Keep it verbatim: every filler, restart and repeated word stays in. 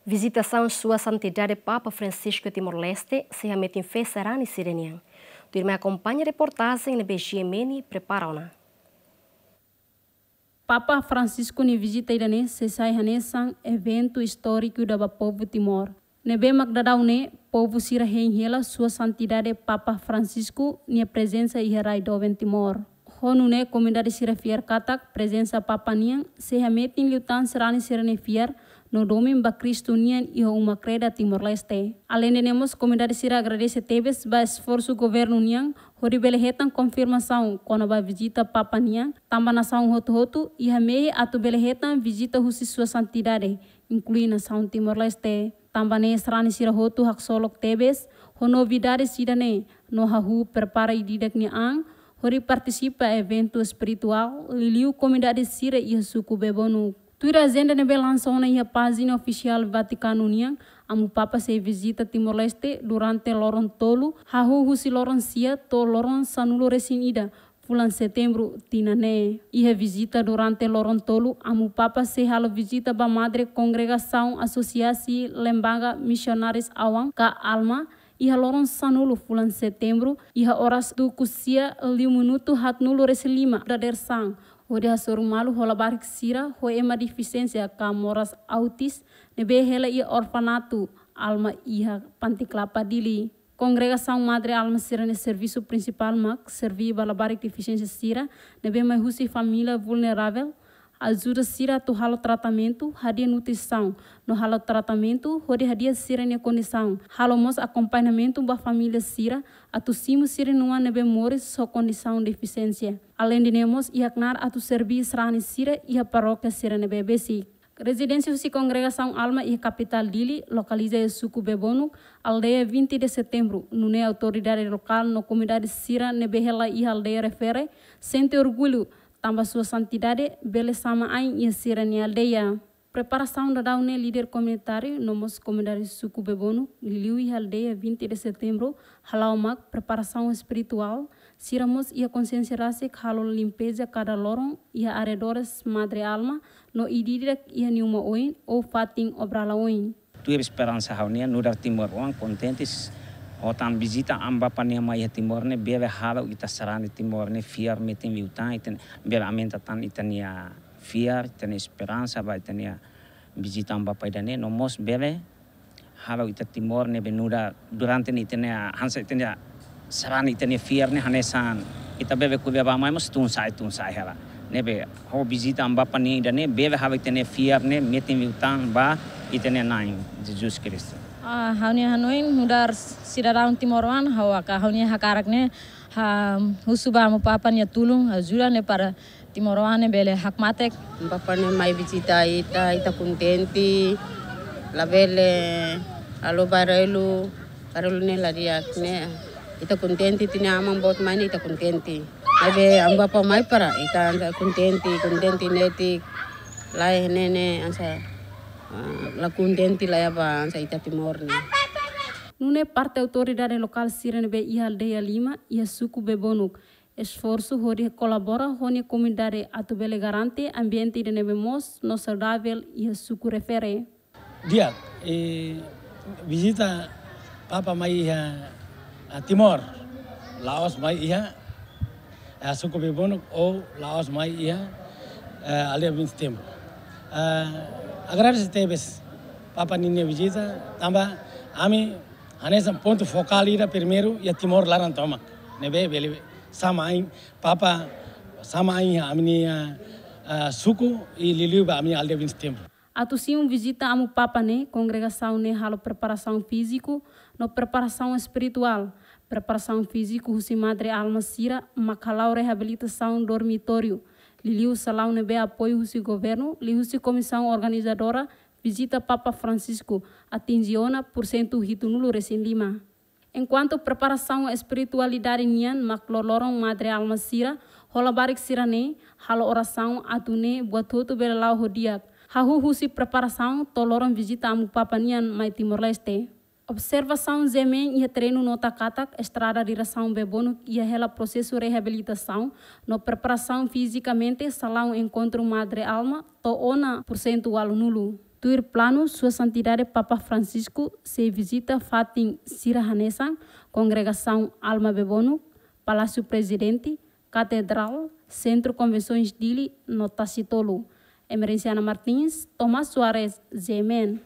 Vizitasaun Sua Santidade Papa Francisco Timor-Leste sei hametin fé sarani sira-nian. Tuirmai akompaña reportajen ne'ebé G M N prepara ona. Papa Francisco nia vizita ida-ne'e sei sai hanesan eventu istóriku ba povu Timor. Ne'ebé mak daudaun ne'e, povu sira hein hela Sua Santidade Papa Francisco nia prezensa iha rai doben Timor. Ho nune'e komunidade sira fiar katak prezensa Papa nian sei hametin liután sarani sira-nia fiar no domin ba Kristu nian iha uma kreda Timor-Leste. Aleinde ne'e mós, komunidade sira agradese tebes ba esforsu governu nian hodi bele hetan konfirmasaun kona-ba vizita Papa nian, tanba nasaun hotu-hotu iha mehi atu bele hetan vizita husi Sua Santidade, inklui nasaun Timor-Leste. Tanba ne'e sarani sira hotu haksolok tebes ho novidade sira-ne'e no hahú prepara ida-idak nia an hodi partisipa eventu espirituál, liuliu komunidade sira iha suku Bebonuk. Tuir ajenda ne'ebé lansa ona iha pájina ofisiál Vatikanu nian, Amu Papa sei vizita Timor-Leste durante loron tolu, hahú husi loron sia to'o loron sanulu-resin-ida fulan Setembru tinan ne'e. Iha vizita durante loron tolu, Amu Papa sei halo vizita ba Madre Kongregasaun Asosiasi Lembaga Misionárius Awan ka ALMA, iha loron sanulu fulan Setembru, iha oras tuku sia liu minutu haatnulu-resin-lima dadeer-saan, hodi hasoru malu ho labarik sira ho ema defisiénsia ka moras autis ne'ebé hela iha orfanatu ALMA iha Panti Klapa, Dili. Kongregasaun Madre ALMA sira-nia servisu prinsipál mak serví ba labarik defisiénsia sira ne'ebé mai husi família vulneravel, ajuda sira atu halo tratamentu, hadi'a nutrisaun no halo tratamentu hodi hadi'a sira-nia kondisaun. Halo mós akompañamentu ba família sira atu simu sira-nia oan ne'ebé moris ho kondisaun defisiénsia. Aleinde ne'e mós iha knaar atu serví sarani sira iha parókia sira ne'ebé besik. Rezidénsia husi kongregasaun ALMA iha kapitál Dili lokaliza iha suku Bebonuk, aldeia vinte de Setembro, nune'e autoridade lokál no komunidade sira ne'ebé hela iha aldeia refere sente orgullu tanba Sua Santidade bele sama ain iha sira-nia aldeia. Preparasaun daudaun ne'e líder komunitáriu no mós komunidade suku Bebonuk, liuliu iha aldeia vinte de Setembro, hala'o mak preparasaun espirituál, sira mós iha konsiénsia rasik halo limpeza kada loron iha arredores Madre ALMA no ida-idak iha nia uma oin ou fatin obra la'o oin. Tuir esperansa ha'u-nian, nu'udar timoroan kontente s-, ho tan vizita Amu Papa nian mai iha Timor ne'e bele halo ita sarani Timor ne'e fiar metin liután, ita bele aumenta tan ita-nia fiar, ita-nia esperansa ba ita-nia vizita Amu Papa ida-ne'e, no mós bele halo ita Timor ne'ebé nu'udar durante ne'e ita-nia, hanesan ita-nia sarani ita-nia fiar ne'e hanesan ita bebe kube ba mai mós tun-sa'e, tun-sa'e hela. Ne'ebé ho vizita Amu Papa nian ida-ne'e bele halo ita-nia fiar ne'e metin liután ba ita-nia Na'i Jesus Kristu. Ah, ha'u-nia hanoin nu'udar sidadaun timoroan, ha'u haka, ha'u-nia hakarak ne'e, ha, husu ba Amu Papa nia tulun, ajuda ne'e para timoroan ne'e bele hakmatek. Amu Papa ne'e mai vizita ita, ita kontente, labele halo barullu, barullu ne'e la di'ak ne'e. Ita kontente, ita-nia aman boot mai ne'e ita kontente. Maibé Amu Papa mai para ita kontente, kontente netik, laiha ne'e ne'e hanesan, ah, la kontente laiha ba hanesan ita Timor ne'e. Nune'e parte autoridade lokál sira ne'ebé iha aldeia lima, iha suku Bebonuk, esforsu hodi kolabora ho nia komunidade atu bele garante ambiente ida ne'ebé moos no saudavel iha suku refere. Di'ak, eh, vizita Papa mai iha, ah, Timor, la'ós mai iha, ah, suku Bebonuk ou la'ós mai iha, eh, aldeia vinte de Setembro. Ah, agradese tebes Papa ninia vizita, tanba ami hanesan pontu fokál ida primeiru iha Timor laran tomak. Ne'ebé bele sama ain, Papa sama ain iha ami-nia, ah, suku i liuliu ba ami-nia aldeia vinte de Setembro. Atu simu vizita Amu Papa ne'e, kongregasaun ne'e halo preparasaun fíziku no preparasaun espirituál. Preparasaun fíziku husi Madre ALMA sira mak hala'o reabilitasaun dormitóriu, liuliu salaun ne'ebé apoiu husi governu, liuhusi komisaun organizadora vizita Papa Francisco, atinje ona pursentu hitunulu-resin-lima. Enkuantu preparasaun espiritualidade nian mak loroloron Madre ALMA sira ho labarik sira-ne'e halo orasaun atu nune'e buat hotu bele la'o ho di'ak, hahú husi preparasaun to'o loron vizita Amu Papa nian mai Timor-Leste. Observasaun G M N iha terrenu nota katak estrada diresaun Bebonuk iha hela prosesu reabilitasaun no preparasaun fizikamente salaun enkontru Madre ALMA to'o ona pursentu ualunulu. Tuir planu, Sua Santidade Papa Francisco sei vizita fatin sira hanesan Kongregasaun Alma Bebonuk, Palásiu Prezidente, Katedrál, Sentru Konvensoens Dili no Tasitolu. Emerenciana Martins, Tomás Soares, G M N.